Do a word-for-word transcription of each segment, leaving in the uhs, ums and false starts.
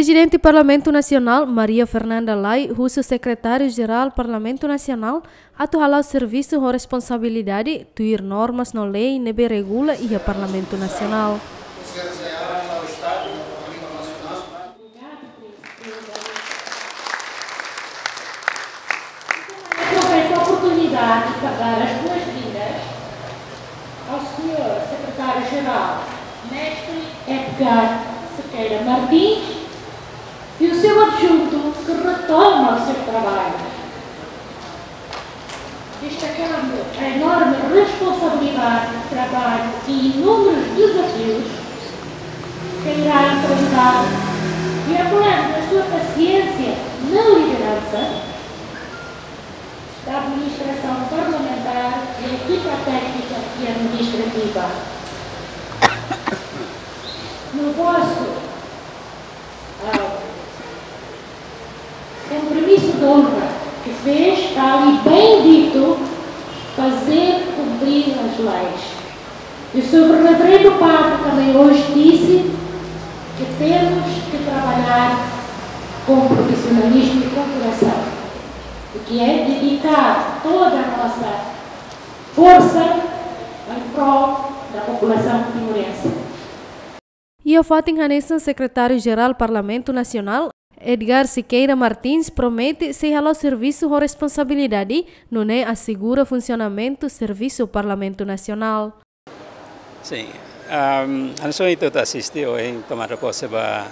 Prezidente Parlamentu Nasionál, Maria Fernanda Lay, husu Sekretáriu-Jerál Parlamentu Nasionál atu hala'o servisu ho responsabilidade, tuir normas no lei ne'ebé regula iha Parlamentu Nasionál. Aproveito a oportunidade para dar as boas-vindas ao senhor Secretário-Geral, Mestre Edgar Sequeira Martins, e o seu adjunto que retoma os seus trabalhos, destacando a enorme responsabilidade, trabalho e inúmeros desafios que irá enfrentar, e acolhendo a sua paciência na liderança da administração parlamentar e equipa técnica e administrativa. No vosso, ah, compromisso de honra que fez, tal e bem dito, fazer cumprir as leis. E o senhor Reverendo Padre também hoje disse que temos que trabalhar com profissionalismo e com coração, o que é dedicar toda a nossa força em prol da população timorense. Iha fatin hanesan, Sekretáriu-Jerál Parlamentu Nasionál, Edgar Sequeira Martins, promete sei hala'o servisu ho responsabilidade, nune'e asegura funsionamentu servisu Parlamentu Nasionál. Sin, am, hanesan ita asiste ohin tomada pose ba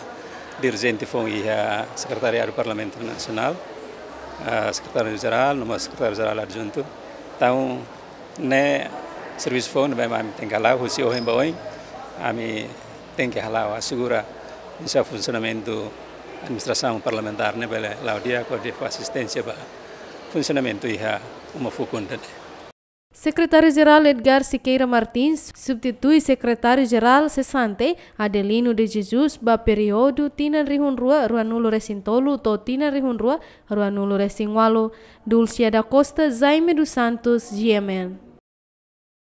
dirijente foun iha Sekretariadu Parlamentu Nasionál, ah, Sekretáriu-Jerál, no mós Sekretáriu-Jerál Adjuntu. Entaun, ne'e servisu foun ne'ebé ami tenke hala'o, husi ohin ba oin, ami tenke hala'o, asegura, hanesan funsionamentu administrasaun parlamentár ne'e bele la'o di'ak hodi fó asisténsia ba funsionamentu iha uma fukun ida-ne'e. Sekretáriu-Jerál Edgar Sequeira Martins substitui Sekretáriu-Jerál sesante, Adelino de Jesus, ba períodu tinan rihun rua ruanulu resin tolu to'o tinan rihun rua ruanulu resin ualu. Dulcia da Costa, Jaime dos Santos, G M N.